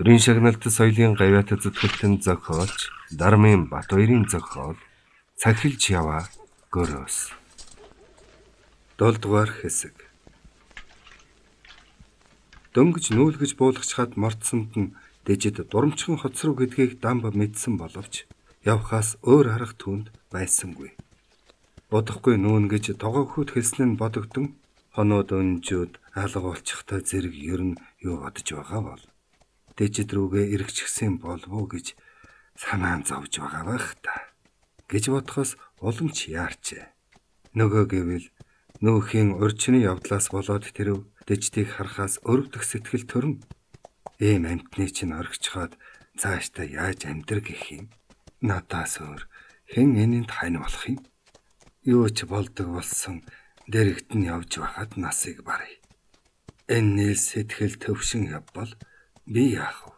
Төрийн шагналт соёлын гавьяат зүтгэлтэн зохиолч Дармын Батбаярын зохиол Цахилж яваа гөрөөс. 7 дугаар хэсэг. Дөнгөж нүүлгэж буулгачхад мордсонд нь дэжид дурамчхан хоцров гэдгийг Дамб мэдсэн боловч явхаас өөр арга түүнд байсангүй. Бодохгүй нүүн гэж тогоохүйд хэлсэн нь бодогдсон. Хоноод өнжүүд алга болчихтой зэрэг ер нь юу бодож байгаа бол дэжид рүүгээ эргэчихсэн болов уу гэж санаан зовж байгаа байх та гэж бодохоос улам ч яарчээ. Нөгөө гэвэл нүүхийн урьдчны явдлаас болоод тэрв дэждийг харахаас өрөвдөх сэтгэл төрн. Ийм амтны чинь оргичхоод цаашдаа яаж амьдр гэх юм. Надаас өөр хэн энэнд хань болох юм? Юу ч болдог болсон дэрэгт нь явж байхад насыг барыг. Энэ сэтгэл төвшин явбал би яах вэ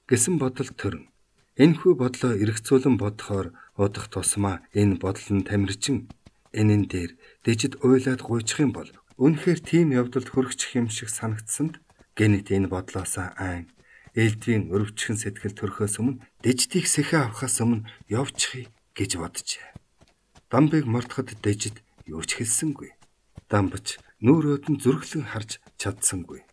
гэсэн бодол төрн. Энэхүү бодлоо эргцүүлэн бодохоор удах тусмаа энэ бодол нь тамирчин. Энэн дээр дэжид уйлаад гуйчих юм бол үнэхээр тийм явдалд хүрчих юм шиг санагдсанд гэнэт энэ бодлоосаа айн элдвийн өрөвчгөн сэтгэл төрхөөс өмнө дэждийг сэхэ авахаас өмнө явчихъя гэж боджээ. Дамбыг мортоход дэжид юу ч хэлсэнгүй. Дамбч нүүрөөд нь зүрхлэн харж чадсангүй.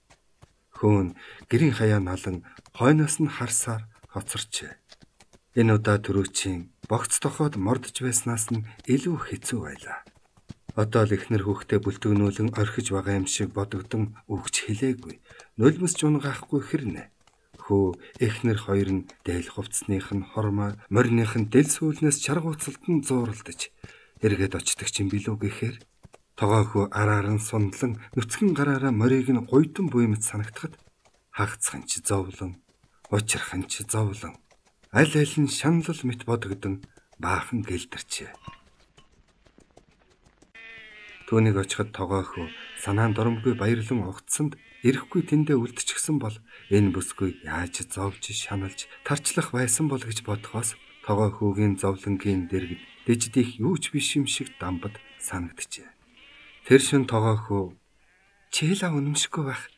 Хөөн гэрийн хаяа налан хойноос нь харсаар хоцорчээ. Энэ удаа төрөөчийн богц тохоод мордж байснаас нь илүү хэцүү байлаа. Одоо л эхнэр хүүхдээ бүлтгнүүлэн орхиж байгаа юм шиг бодогдсон үгч хэлээгүй. Нулимс жунгаахгүй хэрнэ. Хөө эхнэр хоёр нь дээл хувцсных нь хормоо морных нь дэл сүүлнээс чаргууцалд нь зууралдаж эргээд очдог юм билүү гэхээр тогоохөө араар нь сундлан нүцгэн гараараа морийг нь гуйдан буймт санагдахад хагцхан ч зовлон учрхан ч зовлон аль аль нь шаналл мэт бодогдсон баахан гэлдэрчээ. Түүнийг очиход тогоохөө санаан доромгүй баярлан угтсанд ирэхгүй тэндээ үлдчихсэн бол энэ бүсгүй яаж зовж шаналж тарчлах байсан бол гэж бодохоос тогоохөөгийн зовлонгийн дэргэд дэждих юу ч биш юм шиг Дамбад санагджээ. Тэр шин тогоохөө чийлаа үнэмшгүй байх.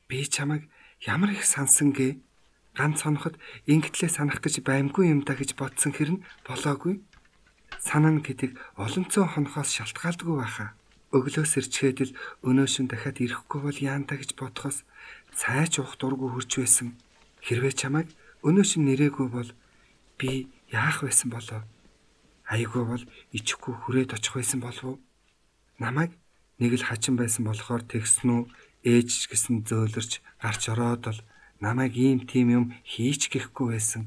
Би чамайг ямар их сансангээ ганц хоноход ингэтлээ санах гэж баймгүй юм да гэж бодсон хэрн болоогүй. Санаа гэдэг олонцоо хонохоос шалтгаалдаггүй байхаа. Өглөөс ирчгээд л өнөөшин дахиад ирэхгүй бол яантаа гэж бодохоос цайч уух дургүй хурж байсан. Хэрвээ чамайг өнөөшин нэрээгүй бол би яах байсан болоо? Айгүй бол ичихгүй хүрээд очих байсан болов уу? Намайг нэг л хачин байсан болохоор тэгсэн үү? Ээж ч гэсэн зөөлөрч гарч ороод л намайг ийм тийм юм хийч гэхгүй байсан.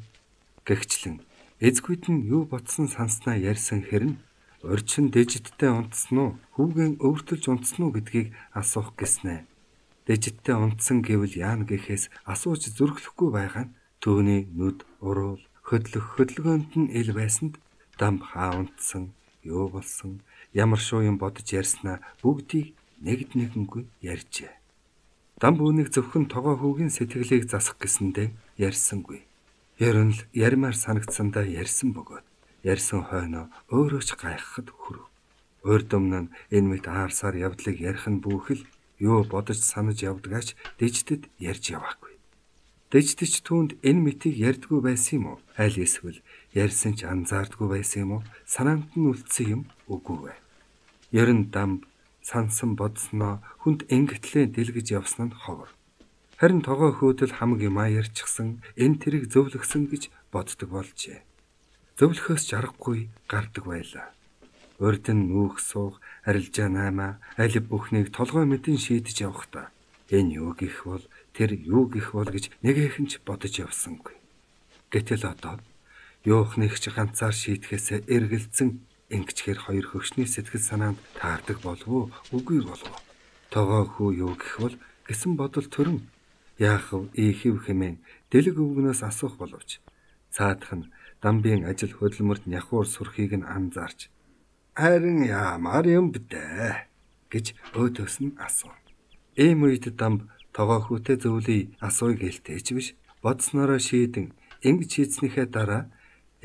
Гэгчлэн эзгүйд нь юу бодсон санснаа ярьсан хэрн урьдчин дэжидтэй унтсан уу? Хүүгэн өвөртөлж унтсан уу гэдгийг асуух гэснэ. Дэжидтэй унтсан гэвэл яана гэхээс асууж зүрхлэхгүй байгаа нь түүний нүд уруул хөдлөгөөнд нь ил байсанд Дамб хаа унтсан, юу болсон, ямар шуу юм бодож ярьснаа бүгдийг нэгд нэгэнгүй ярьжээ. Дамб үүнийг зөвхөн тогоохүүгийн сэтгэлийг засах гэсэндээ ярьсангүй. Ерөн л ярмаар санагдсандаа ярьсан бөгөөд ярьсан хойноо өөрөө ч гайхахад хүрв. Урдөмнө нь энэ мэт аарсаар явдлыг ярих нь бүхэл юу бодож санаж явдгаач дэждэд ярьж яваагүй. Дэждэж түүнд энэ мэтийг ярьдгүй байсан юм уу? Аль эсвэл ярьсан ч анзаардгүй байсан юм уу? Санаанд нь үлдсэн юм үгүй вэ? Ерөн Дамб сансан бодсноо хүнд ингэтлээ дэлгэж явсан нь ховор. Харин тогоохөөдөл хамаг юм ярьчихсан энэ тэрийг зөвлөсөн гэж боддог болжээ. Зөвлөхөөс ч аргагүй гардаг байлаа. Урд нь нүүх суух арилжаа наймаа аль бүхнийг толгой мэдэн шийдэж явахдаа энэ юу гэх бол тэр юу гэх бол гэж нэгэхэн ч бодож явсангүй. Гэтэл одоо юухныг ч ганцаар шийдэхээс эргэлзэн ингэчээр хоёр хөвшний сэтгэл санаанд таардаг болов уу үгүй болов уу? Тогоохөө юу гэх бол гэсэн бодол төрн яах вэ ийхив хэмээн дэлэг өвгнөөс асуух боловч цаадах нь Дамбын ажил хөдөлмөрт няхуур сүрхийг нь анзаарч харин яамаар юм бдэ гэж өөдөөс нь асуув. Ийм үед Дамб тогоохүүтэй зөвлөе асууя гэлтэйч биш бодсноороо шийдэн ингэж хийснийхээ дараа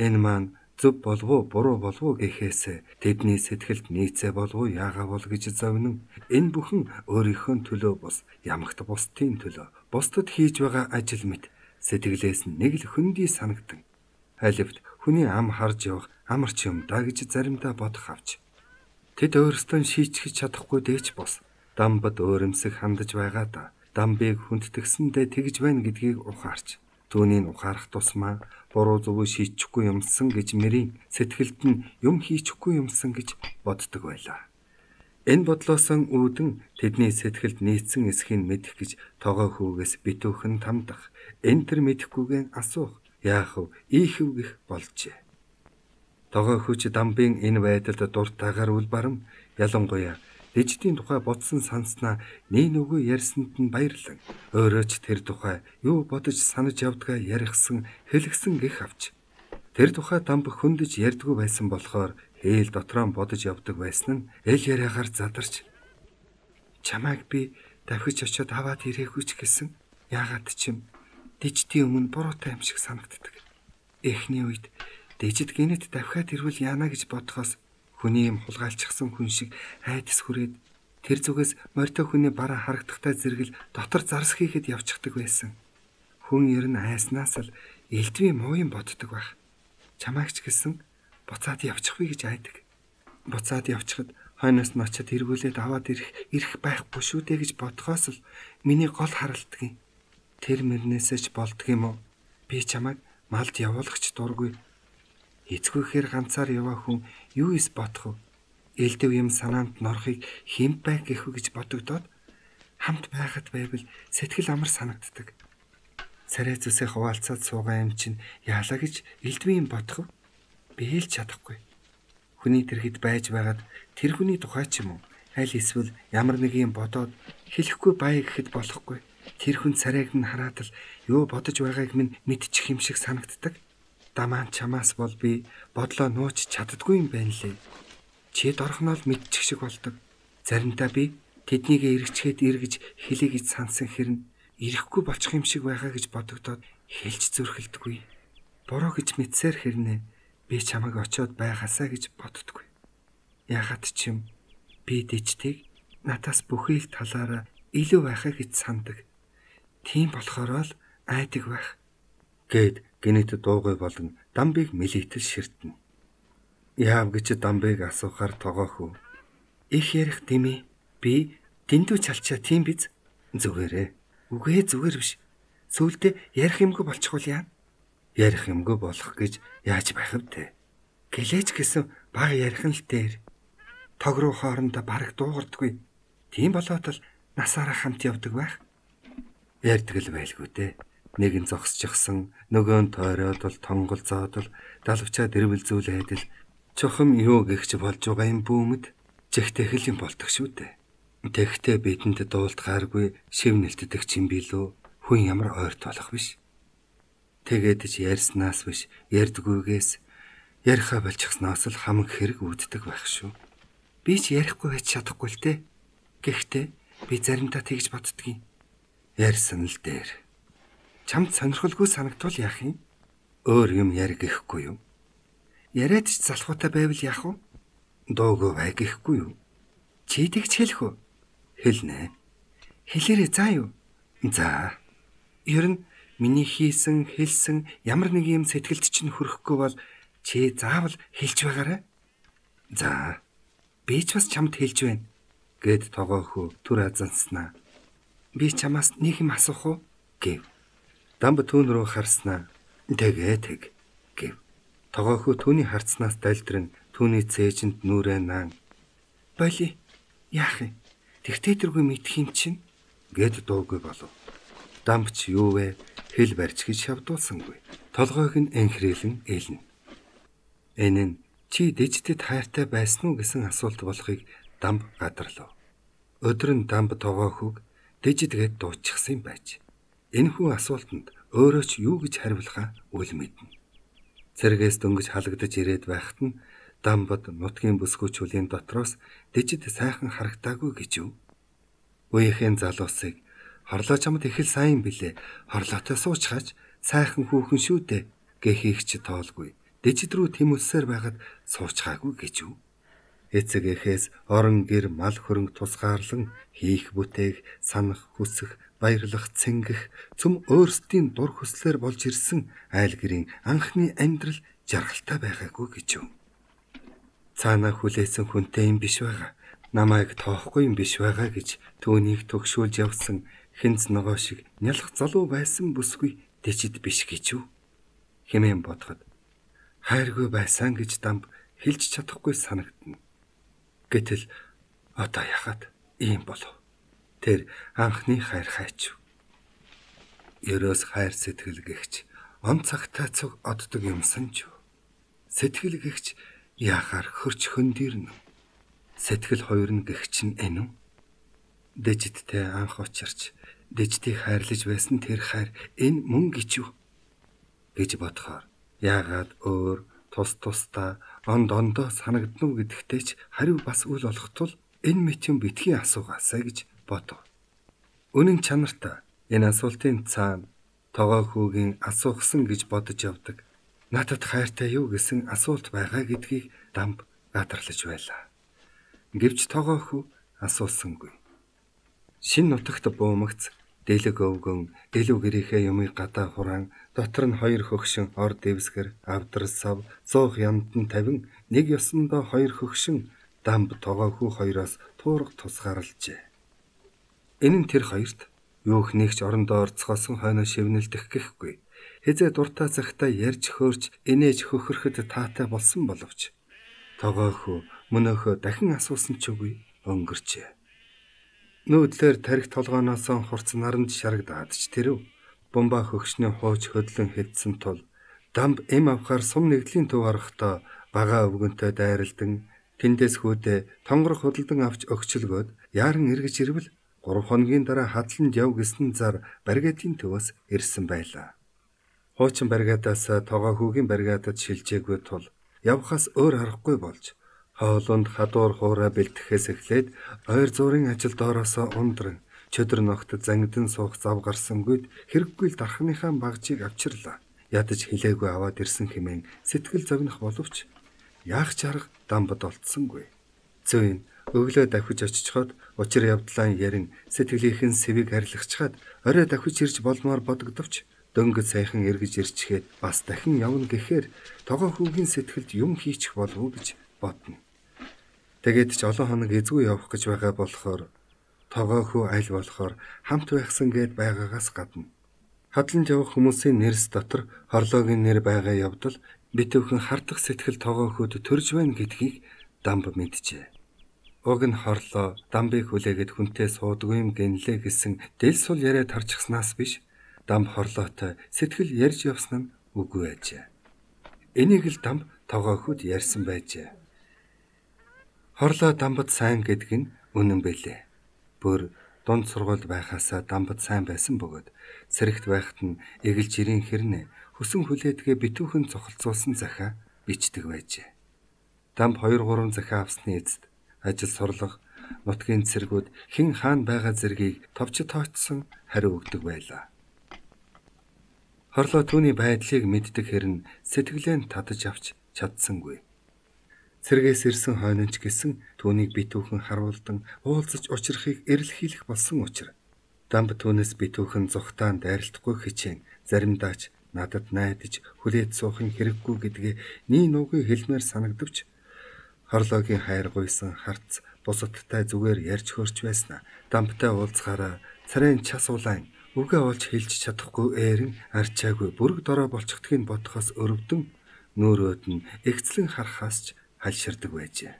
энэ маань зөв болов уу буруу болов уу гэхээс тэдний сэтгэлд нийцээ болов уу яагаа бол гэж зовнон энэ бүхэн өөрийнхөө төлөө бус ямагт бусдын төлөө бусдад хийж байгаа ажил мэт Сэтгэлээс нь нэг л хөндөй санагдан. Алифт хүний ам харж явах амарч юм да гэж заримдаа бодох авч. Тэд өөрсдөө шийтгэж чадахгүй дээч бос. Дамбад өөрөмсөх хандаж байгаа да. Дамбыг хүндтгсэндээ тэгж байна гэдгийг ухаарч. Түүнийг ухаарах тусмаа буруу зөвөө шийчихгүй юмсан гэж мэрийн сэтгэлд нь юм хийчихгүй юмсан гэж боддог байлаа. Энэ бодлоосон үүдэн тэдний сэтгэлд нийцсэн эсхийг мэдэх гэж тогоо хүүгээс битүүхэн тамдах. Энэ төр мэдэхгүйгэн асуух. Яах вэ? Ийхв гэх болжээ. Тогоо хүүч дамбын энэ байдалд дуртайгаар үлбарам ялангуяа дэждийн тухай бодсон санснаа нэг нүгөө ярьсанд нь баярлан өөрөө ч тэр тухай юу бодож санаж явдгаа ярихсан хэлгсэн гэх авч. Тэр тухай дамб хөндөж ярьдгүй байсан болохоор хээл дотроо бодож явдаг байсан нь эл яриагаар задарч чамайг би давхиж очиод аваад ирээгүй ч гэсэн яагаад ч юм дэждийн өмнө буруутай юм шиг санагддаг. Эхний үед дэжид гинэт давхиад ирвэл яана гэж бодохоос хүний юм хулгайлчихсан хүн шиг айдас хүрээд тэр зүгээс морьтой хүний бараа харагдахтай зэрэгэл дотор зарс хийхэд явчихдаг байсан. Хүн ер нь айснаас л элдвээ муу юм боддог байх. Чамайгч гэсэн буцаад явчихвэ гэж айдаг. Буцаад явчихад хойноос нь очиод эргүүлээд аваад ирэх байхгүй шүү дээ гэж бодхоос л миний гол харалтдаг юм. Тэр мөрнөөсөө ч болдг юм уу? Би чамайг малд явуулахч дургүй. Эцгүйхээр ганцаар яваа хүн юу ис бодох вэ? Элдэв юм санаанд норохыг хэмт байх гэхүү гэж бодогдоод хамт байхад байвал сэтгэл амар санагддаг. Царай зүсээ хуваалцаад суугаа юм чинь яалаа гэж элдвээ юм бодох вэ? Би хэлж чадахгүй. Хүний тэрхэд байж байгаад тэр хүний тухай ч юм уу аль эсвэл ямар нэг юм бодоод хэлэхгүй бай гэхэд болохгүй. Тэр хүн царайг нь хараад л юу бодож байгааг минь мэдчих юм шиг санагддаг. Дамаан чамаас бол би бодлоо нууч чаддгүй юм байна лээ. Чи дорхноо л мэдчих шиг болдог. Заримдаа би тэднийг эргэчгээд эргэж хэлье гэж сансан хэрнэ ирэхгүй болчих юм шиг байгаа гэж бодогдоод хэлж зүрхэлдэггүй. Буруу гэж мэдсээр хэрнээ би чамайг очиод байгаасаа гэж боддоггүй. Ягаад ч юм би дэжтийг надаас бүхий л талаараа илүү байхаа гэж сандаг. Тийм болохоор л айдаг байх. Гэд гинэт дуугүй болон дамбыг мэлийтэл ширтэнэ. Яав гэж дамбыг асуухаар тогоохүү. Их ярих димээ. Би дэндүү чалчаа тийм биз? Зүгээрээ. Үгүй зүгээр биш. Сүүлдээ ярих юмгүй болчихвол яа? Ярих юмгүй болох гэж яаж байх вэ? Гэлээч гэсэн бага ярих нь л дээр. Тог руу хоорондоо бараг дуугардгүй. Тийм болоод л насаараа хамт явдаг байх. Ярьдаг л байлгүй дээ. Нэг нь зогсчихсан, нөгөө нь тойроод л тонголзоод л далавчаа дэрвэлзүүлээд л чухам юу гихч болж байгаа юм бүүмэд жигтэхэл юм болдог шүү дээ. Тэгтээ бидэнд дуулдгааргүй шив нэлтдэг юм билүү? Хүн ямар ойрт болох биш. Тэгээд ч ярьснаас биш ярьдгүйгээс яриха болчихсноос л хамаг хэрэг үүддэг байх шүү. Би ч ярихгүй байж чадахгүй л дээ. Гэхдээ би заримдаа тэгж боддгийн. Ярьсан л дээр. Чамд сонирхолгүй санагдвал яах юм? Өөр юм яри гэхгүй юу? Яриад ч залхуутай байвал яах вэ? Дуугүй бай гэхгүй юу? Чи тэгч хэлэх үү? Хэлнэ. Хэлээрээ заа юу? За. Ер нь миний хийсэн, хэлсэн ямар нэг юм сэтгэлд чинь хүрэхгүй бол чи заавал хэлж байгаарай. За. Би ч бас чамд хэлж байна. Гэд тогоохөө түр азанснаа. Би чамаас нэг юм асуух уу? Гэв. Дамб түүн рүү харснаа. Тэг. Гэв. Тогоохөө түүний харцнаас дайлдран түүний цээжинд нүрээ наан. Боли. Яах юм? Тэгтээ тэргүй мэдх юм чинь гэд дуугүй болов. Дамб ч юу вэ? Хэл барьж гэж шавдуулсангүй. Толгойг нь энхрээлэн ээлнэ. Энэ нь чи дэжтэд хайртай байсан уу гэсэн асуулт болохыг дамб гадарлав. Өдөр нь дамб тогоохог дэжидгээд дуучихсан юм байж. Энэхүү асуултанд өөрөө ч юу гэж хариулахаа үл мэднэ. Цэргээс дөнгөж халагдаж ирээд байхад нь дамбад нутгийн бүсгүй чүлийн дотроос дэжид сайхан харагдаагүй гэж юу? Үеийнхэн залуусыг хорлоо чамд их л сайн билээ. Хорлоотой суучхаач сайхан хүүхэн шүү дээ гэхийг ч тоолгүй. Дэжид рүү тэмүүлсээр байгаад суучхаагүй гэж юу? Эцэг эхээс орон гэр мал хөрөнгө тусгаарлан хийх бүтээх, санах, хүсэх, баярлах, цэнгэх, цөм өөрсдийн дур хүслээр болж ирсэн айл гэрийн анхны амьдрал жаргалтай байгаагүй гэж юу. Цаанаа хүлээсэн хүнтэй юм биш байгаа. Намайг тоохгүй юм биш байгаа гэж түүнийг төгшүүлж явсан хинц ногоо шиг нялх залуу байсан бүсгүй дэжид биш гэж юу. Хэмээн бодоход хайргүй байсан гэж Дамб хэлж чадахгүй санагдана. Гэтэл одоо яхад ийм болов. Тэр анхны хайр хайч. Ерөөс хайр сэтгэл гэгч он цагтаа цуг оддог юмсан ч. Сэтгэл гэгч яахаар хөрч хөндөрнө. Сэтгэл хоёр нь гэгч нь энэ үү? Дэжидтэй анх учирч дэждийг хайрлаж байсан тэр хайр энэ мөн гэж юу гэж бодохоор яагаад өөр тус тусдаа ондоо санагдна уу гэдэгтэй ч хариу бас үл олох тул энэ мэт юм битгий асуугаасаа гэж бодов. Үнэн чанартай энэ асуултын цаана тогоо хүүгийн асуухсан гэж бодож явдаг надад хайртай юу гэсэн асуулт байгаа гэдгийг Дамб гадарлаж байлаа. Гэвч тогоо хүү асуусангүй. Шин нутагт буумагц дэлэг өвгөн илүү гэрийнхээ юмыг гадаа хураан дотор нь хоёр хөгшин ор дэвсгэр авдар сав зуух ямдан тавин нэг ёсондоо хоёр хөгшин Дамб тогоо хүү хоёроос туурга тусгаарлжээ. Энэ нь тэр хоёрт юух нэгч орондоо орцгоосон хойноо шивнэлдэх гэхгүй. Хизээ дуртай цагтаа ярьж хөөрч инээж хөхөрөхөд таатай болсон боловч тогоо хүү мөнөөхөө дахин асуусан ч үгүй өнгөрчээ. Нүүдлэр тарих толгооноос хурц наранд шарагдаад ч тэрв бомба хөгшний хууч хөдлөн хэдсэн тул Дамб эм авахаар сум нэгдлийн төв орохдоо бага өвгөнтэй дайралдан тэндээс хүүдээ тонгор худалдан авч өгчлгөөд яаран эргэж ирвэл 3 хоногийн дараа хадланд яв гэсэн зар баригатын төвөөс ирсэн байлаа. Хуучин баригадаас тогоо хүүгийн баригадад шилжээгүй тул явхаас өөр аргагүй болж хоолунд хадуур хуурай бэлтгэхээс эхлээд ойр зуурын ажил доороосоо ундран чөдөр ногт зангидан суух зав гарсангүйд хэрэггүй л дархныхаа багжийг авчирлаа. Ядаж хилээгүй аваад ирсэн хэмээн сэтгэл зовнох боловч яах ч арга Дамбад олдсонгүй. Зүйн өглөө давхиж очичход учир явдлаа ярин сэтгэлийнхэн сэвийг арилгачхаад орой давхиж ирж болмоор бодогдовч дөнгөж сайхан эргэж ирчгээд бас дахин явна гэхээр тогоо хүүгийн сэтгэлд юм хийчих болов уу гэж бодно. Тэгээд ч олон хоног эзгүй явах гэж байгаа болохоор тогоо хүү аль болохоор хамт байхсан гээд байгаагаас гадна хадланд явах хүмүүсийн нэрс дотор хорлоогийн нэр байгаа явдал битүүхэн хардах сэтгэл тогоо хүүд төрж байна гэдгийг Дамб мэджээ. Уг нь хорлоо Дамбыг хүлээгээд хүнтэй суудгүй юм гэнлээ гэсэн дэл сул яриа тарчихснаас биш Дамб хорлоотой сэтгэл ярьж явсан нь үгүй ажээ. Энийг л Дамб тогоо хүүд ярьсан байжээ. Хорлоо Дамбад сайн гэдэг нь үнэн бэлээ. Бүр дунд сургуульд байхасаа Дамбад сайн байсан бөгөөд сэрэгт байхад нь эгэл жирийн хэрнээ хүсэн хүлээдгээ битүүхэн цохолцуулсан захиа бичдэг байжээ. Дамб 2-3 захиа авсны эцэст ажил сурлага нутгийн цэргүүд хэн хаана байгаа зэргийг товч тоочсон хариу өгдөг байлаа. Хорлоо түүний байдлыг мэддэг хэрн сэтгэлээ нь татаж авч чадсангүй. Цэргээс ирсэн хойнонч гэсэн түүнийг битүүхэн харуулдан уулзаж учрахыг эрэлхийлэх болсон учраас Дамб түүнээс битүүхэн зүхтаан дайралтгүй хичээн заримдаа ч надад найдаж хүлээд суухын хэрэггүй гэдгээ нී нуугүй хэлмээр санагдвч хорлоогийн хайр гуйсан харц бусадтай зүгээр ярьж хөрч байснаа Дамбтай уулзахаараа царайн час улаан үгээ олж хэлж чадахгүй ээрэн арчаагүй бүрэг дорой болчихдгийг бодохоос өрөвдөн нүүрөөд нь эгцлэн харахаас ч хальширдаг байжээ.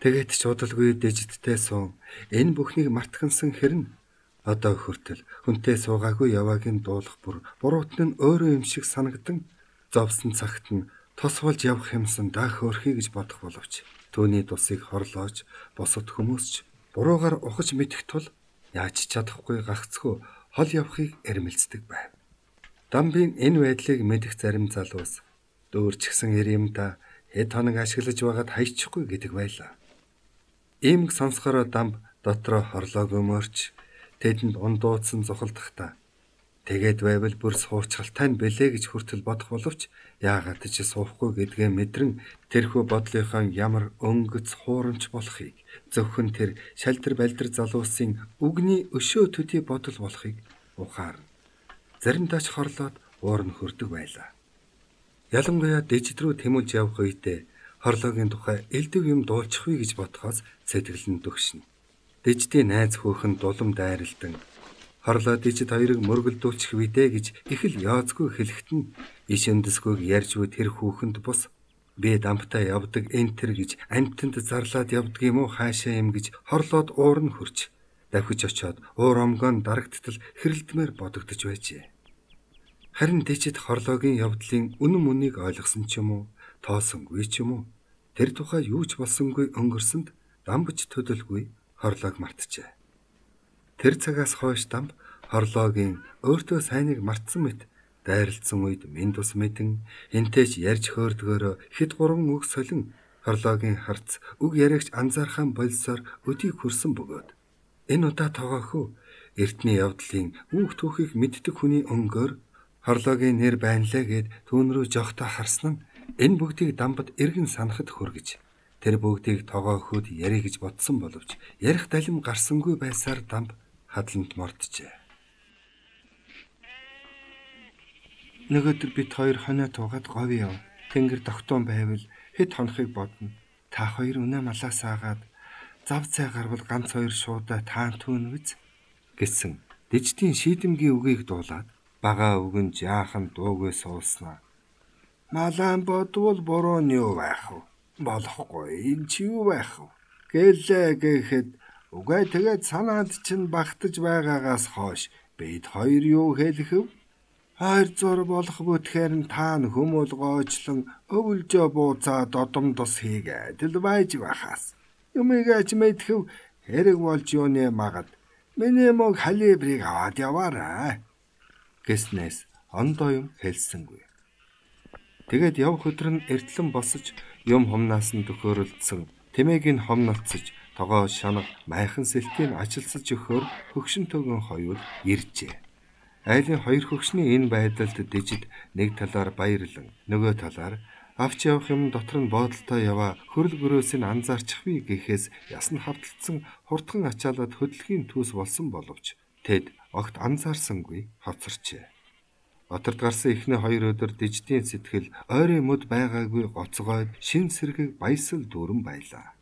Тэгээд ч удалгүй дэжидтэй суун энэ бүхнийг мартахансан хэрн одоо хүртэл хүнтэй суугаагүй яваагийн дуулах бүр буруутан нь өөрөө юм шиг санагдан зовсон цагт нь тос болж явах юмсан даах өөрхий гэж бодох боловч түүний тусыг хорлоож бусад хүмүүс ч буруугаар ухаж мэдэх тул яаж чадахгүй гагцхүү хол явахыг эрмэлздэг байв. Дамбын энэ байдлыг мэдэх зарим залуус дүүрчгсэн иримда хэд хоног ашиглаж байгаад хайчихгүй гэдэг байлаа. Иймг сонсохороо Дамб дотроо хорлоог өмөрч тэдэнд ундуудсан зухалдахдаа Тэгээд байвал бүр суучралтай нь бэлээ гэж хүртэл бодох боловч яагаад ч суухгүй гэдгээ мэдрэн тэрхүү бодлынхаа ямар өнгөц хуурамч болохыг зөвхөн тэр шалдар балдар залуусын үгний өшөө төдий бодол болохыг ухаарна. Заримдаа ч хорлоод уур нь хөрдөг байлаа. Ялангуяа дижид рүү тэмүүлж явах үедээ хорлоогийн тухай элдв юм дуулчихвэ гэж бодохоос сэтгэл нь дөгшнө. Дижидийн найз хүүхэн дулам дайралдан хорлоо дижид хоёрыг мөргөлдүүлчих вүдэ гэж их л яоцгүй хэлэхэд нь иш өндөсгүйг ярьж буй тэр хүүхэнд бус би дамптай явдаг энтер гэж амтнд зарлаад явдаг юм уу хаашаа юм гэж хорлоод уур нь хөрч давхиж очиод уур омгоон дарагдтал хэрэлдмээр бодогдож байжээ. Харин дижид хорлоогийн явдлын үнэн мөнийг ойлгосон ч юм уу тоосонгүй ч юм уу тэр тухай юу ч болсонгүй өнгөрсөнд дамбаж төдөлгүй хорлоог мартжээ. Тэр цагаас хойш дамб хорлоогийн өөртөө сайныг мартсан мэт дайралтсан үед минь тус мэдэн энтэйч ярьж хөөрдгөөрөө хэд гурван үг солин хорлоогийн харц үг яриагч анзаархан болсоор өдийг хүрсэн бөгөөд энэ удаа тоогоохоо эртний явдлын үүх түүхийг мэддэг хүний өнгөөр хорлоогийн нэр байнлаа гэд түүн рүү жогтоо харсан нь энэ бүгдийг дамбад эргэн санахад хүргэж тэр бүгдийг тоогооход ярих гэж бодсон боловч ярих далим гарсангүй байсаар дамб хадланд морджээ. Нөгөөдөр бид хоёр хонио туугаад говь яв. Тэнгэр тогтоон байвал хэд хонохыг бодно. Та хоёр үнэ малаас аагаад зав цай гарвал ганц хоёр шуудаа таан түүн биз гэсэн дижидийн шийдэмгийн үгийг дуулаад бага үгэн жаахан дуугүй суулснаа. Малаан бодвол буруу нь юу байх вэ? Болохгүй энэ чи юу байх вэ? Гэлээ гэхэд үгүй тэгээд санаанд чинь багтаж байгаагаас хойш бид хоёр юу хэлэх вэ? 200 болох бүтгээр нь таан хүмүүл гоочлон өвөлжөө бууцаа додом тус хийгээд л байж байхаас. Юмигаач мэдхэв хэрэг болж юуны магад миний мог халибрыг аваад яваарай гэснээс ондоо юм хэлсэнгүй. Тэгээд явх өдөр нь эртлэн босож юм хумнаас нь төхөөрөлдсөн тэмээг нь хомнолцож тогоо шанаг майхан сэлтийг ажилсаж өгөхөөр хөгшин төгөн хоёул иржээ. Айлын хоёр хөгшний энэ байдалд дижид нэг талаар баярлан нөгөө талаар авч явах юм дотор нь боодолтой яваа хөрөл гөрөөсийг анзаарчихвээ гэхээс ясн хавталцсан хурдхан ачаалаад хөдөлгөөний түүс болсон боловч тэд огт анзаарсангүй хоцорчээ. Отард гарсан эхний 2 өдөр дижидийн сэтгэл ойрын мөд байгаагүй гоцгойд шин сэргийг баясал дүүрэн байлаа.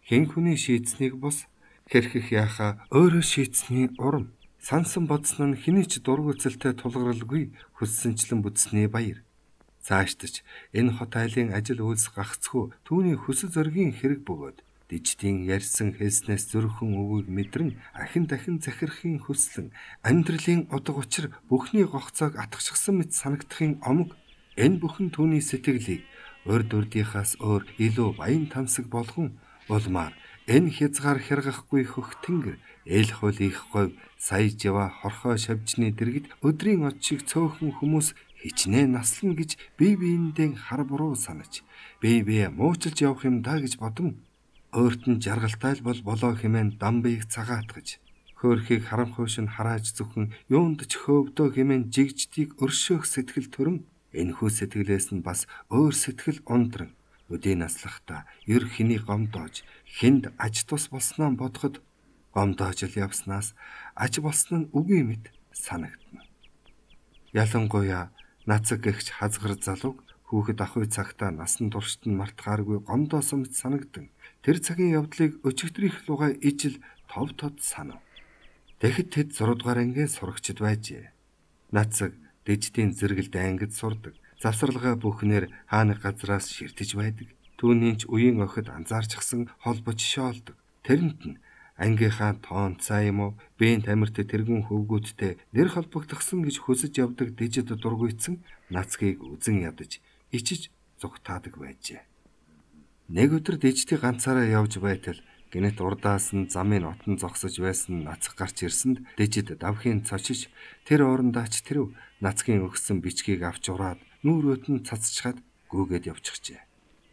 Хэн хүний шийдсэнийг бус хэрхэх яхаа өөрөө шийдсэний урам сансан бодсон нь хэний ч дургуцэлтэй тулгаралгүй хүссэнчлэн бүтсний баяр. Цаашдаж энэ хот айлын ажил үйлс гагцхүү түүний хүсэл зоригийн хэрэг бөгөөд дижидийн ярьсан хэлснээс зөрхөн өвөг мэдрэн ахин дахин захирахын хүслэн амьдралын удаг учир бүхний гогцоог атгахчихсан мэт санагдахын омог энэ бүхэн түүний сэтгэлийг урд урдийнхаас өөр илүү баян тансаг болгон улмаар энэ хязгаар хяргахгүй хөх тэнгэр эл хул их говь сая жава хорхоо шавжны дэргэд өдрийн од шиг цөөхөн хүмүүс хичнээн наслана гэж бие биендээ хар буруу санаж бие муучилж явах юм даа гэж бодон өөрт нь жаргалтай бол болоо хэмээн дамбыг цагаатгаж хөөрхийг харамхуйш нь харааж зөвхөн юунд ч хөвдөө хэмээн жигждийг өршөөх сэтгэл төрөн энэхүү сэтгэлээс нь бас өөр сэтгэл ундран өдийн наслахта ер хэний гомдоож хүнд аж тус болсноо бодоход гомдоож л явснаас аж болсон нь үгүй мэт санагдана. Ялангуяа нацаг гэгч хазгар залууг хүүхэд ахуй цагтаа насан туршид нь мартахааргүй гомдоосон мэт санагдан тэр цагийн явдлыг өчигдрийнх лугай ижил тов тод санав. Тэгэхэд тэд 6 дугаар ангийн сурагчид байжээ. Нацаг дижидийн зэрэгэлд ангид сурдаг. Завсралгаа бүхнээр хааны газраас ширтэж байдаг. Түүний ч үеийн охид анзаарчихсан холбож шоолдог. Тэрэнд нь ангийнхаа тоонцаа юм уу, бээн тамирт тэргүүн хөвгүүдтэй нэр холбогдсон гэж хүсэж явдаг дижид дургуйцсан нацгийг үзен ядаж ичиж зүгтаадаг байжээ. Нэг өдөр дижидийг ганцаараа явж байтал гинэт урдаас нь замын отон зогсож байсан нацг гарч ирсэнд дижид давхийн цочиж тэр уурандаач тэрв нацгийн өгсөн бичгийг авч ураад нүүрөөт нь цацчихад гүгээд явчихжээ.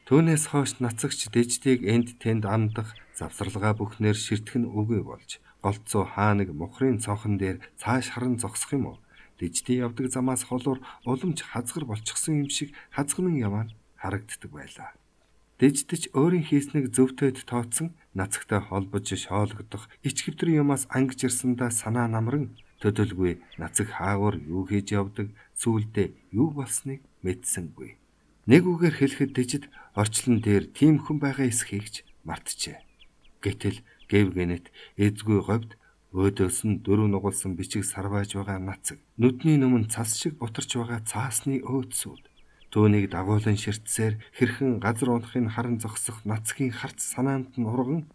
Түүнээс хойш нацагч диждийг энд тэнд амдах завсралгаа бүхнээр ширтгэн үгүй болж голцоо хааныг мухрын цонхон дээр цааш харан зогсох юм уу? Диждийн явдаг замаас холуур уламж хазгар болчихсон юм шиг хазганан яваа нь харагддаг байлаа. Диждэж өөрийн хийснийг зөвтөд тооцсон нацагтай холбож шоологдох ичгэвтэр юмас ангиж ирсэндээ санаа намран төдөлгүй нацаг хаагуур юу хийж явдаг сүүлдээ юу болсныг мэдсэнгүй. Нэг үгээр хэлэхэд дижид орчлон дээр тийм хүн байгаа эсхийгч мартжээ. Гэтэл гэв гэнэт эзгүй говьд өөдөөс нь дөрөв нугалсан бичиг сарвааж байгаа нацаг, нүдний нүмэн цас шиг бутарч байгаа цаасны өөдсүүд, түүнийг дагуулan ширтсээр хэрхэн газар унахыг харан зогсох нацгийн харц санаанд нь урган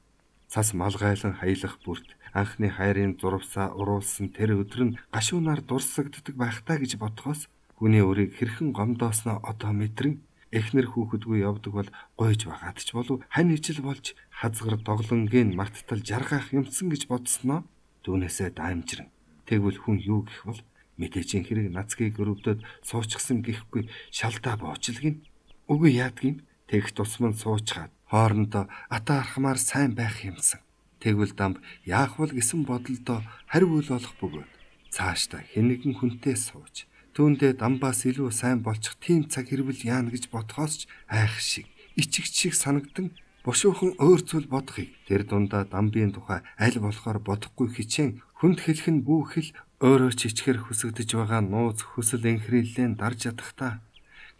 цас малгайлан хаялах бүрт анхны хайрын зурвсаа уруулсан тэр өдөр нь гашуунаар дурсагддаг байхтаа гэж бодхоос хүний өрийг хэрхэн гомдоосноо одоо мэдрэн эхнэр хүүхэдгүй явдаг бол гойж байгаад ч болов хань ижил болж хазгар доглонгийн марттал жаргах юмсан гэж бодсноо түүнээсээ даамжирэн. Тэгвэл хүн юу гэх бол мэдээжин хэрэг нацгийг өрөвдөд суучихсан гэхгүй шалдаа буучлгин. Үгүй яадгийн тэгх тусман суучгаад хоорондоо ата архамаар сайн байх юмсан. Тэгвэл дамб яах вэ гэсэн бодолдоо хариу үл болох бөгөөд цаашдаа хэнэгэн хүнтэй сууж түүндээ дамбаас илүү сайн болчих тийм цаг хэрвэл яана гэж бодхоос ч айх шиг ичигч шиг санагдан бушуухан өөр зүйл бодохыг тэр дундаа дамбын тухай аль болохоор бодохгүй хичээн хүнд хэлэх нь бүхэл өөрөө ч ичгэр хүсэгдэж байгаа нууц хүсэл энхрийллээ дарж ядахтаа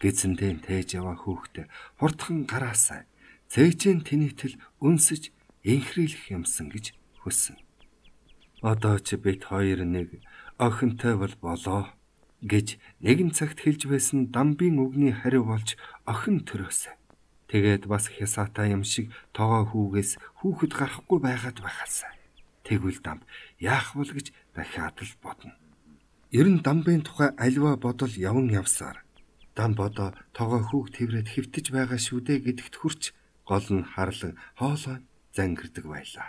гэзэндээ тээж яваа хүүхдээ хурдхан гараасай цээжэн тэнийтэл үнсэж энхрийлэх юмсан гэж хүснэ. Одоо ч бид хоёр нэг охинтой болоо гэж нэгэн цагт хэлж байсан дамбын үгний хариу болж охин төрөөсэй. Тэгээд бас хясаатай юм шиг тоогоо хүүгээс хүүхэд гарахгүй байгаад байхаасай. Тэгвэл дамб яах вэ гэж дахиад л бодно. Ер нь дамбын тухай альва бодол явн явсаар дамб одоо тоогоо хүүг тэрвэд хэвтэж байгаа шүү дээ гэдэгт хүрч гол нь харлан хоолой зангирдаг байлаа.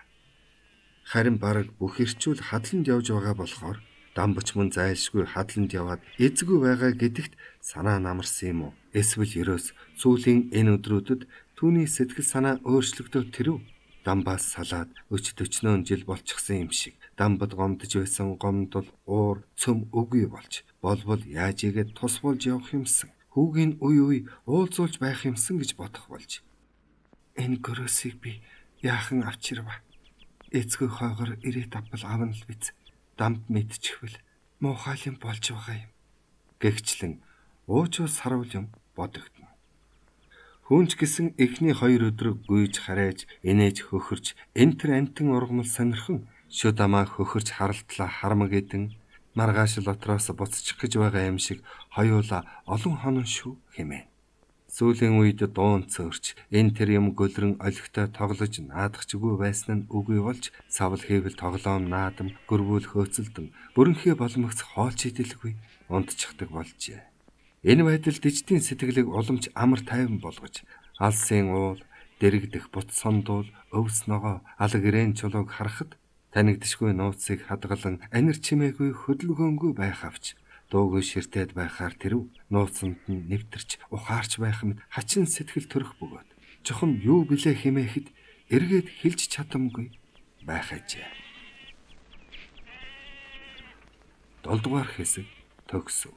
Харин бараг бүх ирчүүл хадланд явж байгаа болохоор дамбч мөн зайлшгүй хадланд яваад эзгүй байгаа гэдэгт санаа намарсан юм уу? Эсвэл ерөөс сүүлийн энэ өдрүүдэд түүний сэтгэл санаа өөрчлөгдөв тэрв? Дамбаас салаад өчтөчнөөн жил болчихсон юм шиг дамбад гомдож байсан гомдол уур цөм үгүй болж болбол яаж игээд тус болж явах юмсан. Хүүгийн үе уулзуулж байх юмсан гэж бодох болж. Энэ гөрөөсийг би яахан авчирва. Эцгүй хойгоор ирээд авбал авна л биз. Дамб мэдчихвэл муухай юм болж байгаа юм. Гэгчлэн уучуус сарвал юм бодогдно. Хүнч гисэн эхний 2 өдрөг гүйж харайж инээж хөхөрч энтер амтэн ургамал сонирхон шүдамаа хөхөрч харалтлаа хармаг эдэн маргааш лотроос буцчих гэж байгаа юм шиг хоёулаа олон хонон шүү хэмээн. Сүүлийн үед дуун цөөрч энэ тэр юм гөлрөн олигтой тоглож наадахчгүй байсан нь үгүй болж савл хийвэл тоглоом наадам гөрвүүл хөөцөлдөн бүрэнхээ боломгц хоолч идэлгүй унтчихдаг болжээ. Энэ байдал диждийн сэтгэлийг уламж амар тайван болгож алсын уул дэрэгдэх бут сондуул өвс ногоо алг ирээн чулууг харахад танигдшгүй нууцыг хадгалан анир чимээгүй хөдөлгөөнгүй байх авч дуугүй ширтээд байхаар тэрв нууцанд нь нэвтэрч ухаарч байх мэд хачин сэтгэл төрөх бөгөөд чухам юу билээ хэмээхэд эргээд хэлж чадамгүй байх ажээ. 7 дугаар хэсэг төгсөв.